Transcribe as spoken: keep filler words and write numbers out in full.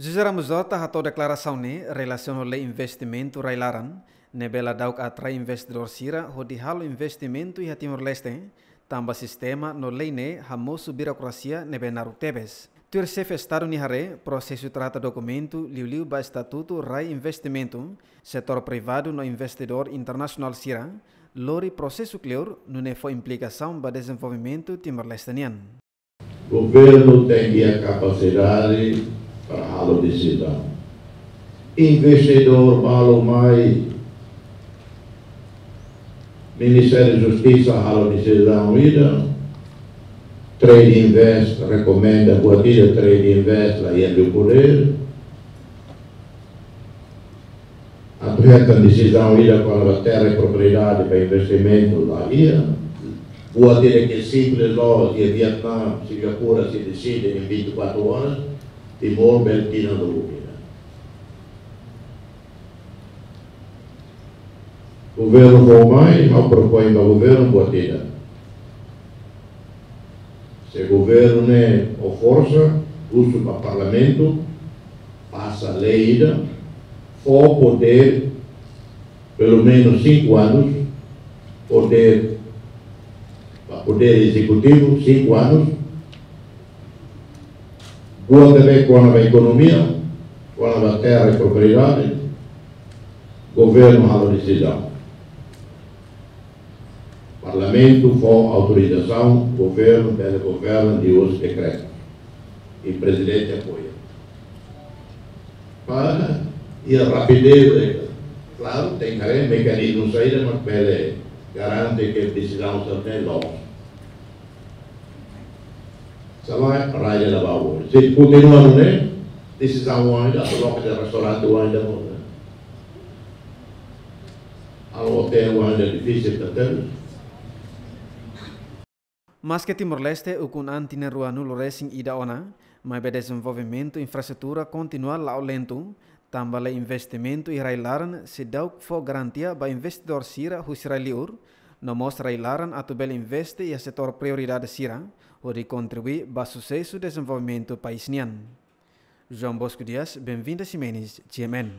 José Ramos Horta hato'o deklarasaun ne'e relasiona ho lei investimentu rai-laran, ne'ebé la dauk atrai investidór sira hodi halo investimentu iha Timor-Leste, tanba sistema no lei ne'e hamosu birokrasia ne'ebé naruk tebes. Tuir Xefe Estadu nia haree, prosesu trata dokumentu liuliu ba estatutu rai investimentu, setór privadu no investidór internasionál sira, lori prosesu kleur, nune'e fó implikasaun ba dezenvolvimentu Timor-Leste nian. Governu tenke iha kapasidade para halo desizaun. Investidór balu mai, Ministériu Justisa halo desizaun ida, Trade Invest rekomenda buat ida, Trade Invest la iha podér atu hetan desizaun ida kona-ba terra i propriedade ba investimentu la iha. Buat ida ke simples loos, iha Vietnam, Singapura, sei deside em vinte e quatro horas, Timor bele tinan lubuk ida. Governu fó mai, ha'u propoin ba governu buat ida. Se governu ne'e ho forsa, husu ba parlamentu, pasa lei ida, fó podér, pelumenus cinco anos, podér, ba podér ezekutivu, cinco anos, buat ne'ebé kona-ba ekonomia, kona-ba terra i propriedade, governu halo desizaun. Parlamentu fó autorizasaun, governu bele governa liuhusi dekretu. I prezidente apoia. Para iha rapidez, klaru, tenke haree mekanizmu saida mak bele garante ke desizaun sai loos. Sala rai ida la bá. Se kontinua nune'e, desizaun oan ida, loke restaurante oan ida, halo otél oan ida, difisil tebes. Maske Timor-Leste ukun an tinan ruanulu resin ida ona, maibé dezenvolvimentu infraestrutura kontinua la'o lentu, tanba lei investimentu iha rai-laran seidauk fó garantia ba investidór sira husi rai-liur, no mós rai-laran atu bele investe iha setór prioridade sira, hodi kontribui ba susesu dezenvolvimentu país nian. João Bosco Dias, Benvinda Ximenes, G M N.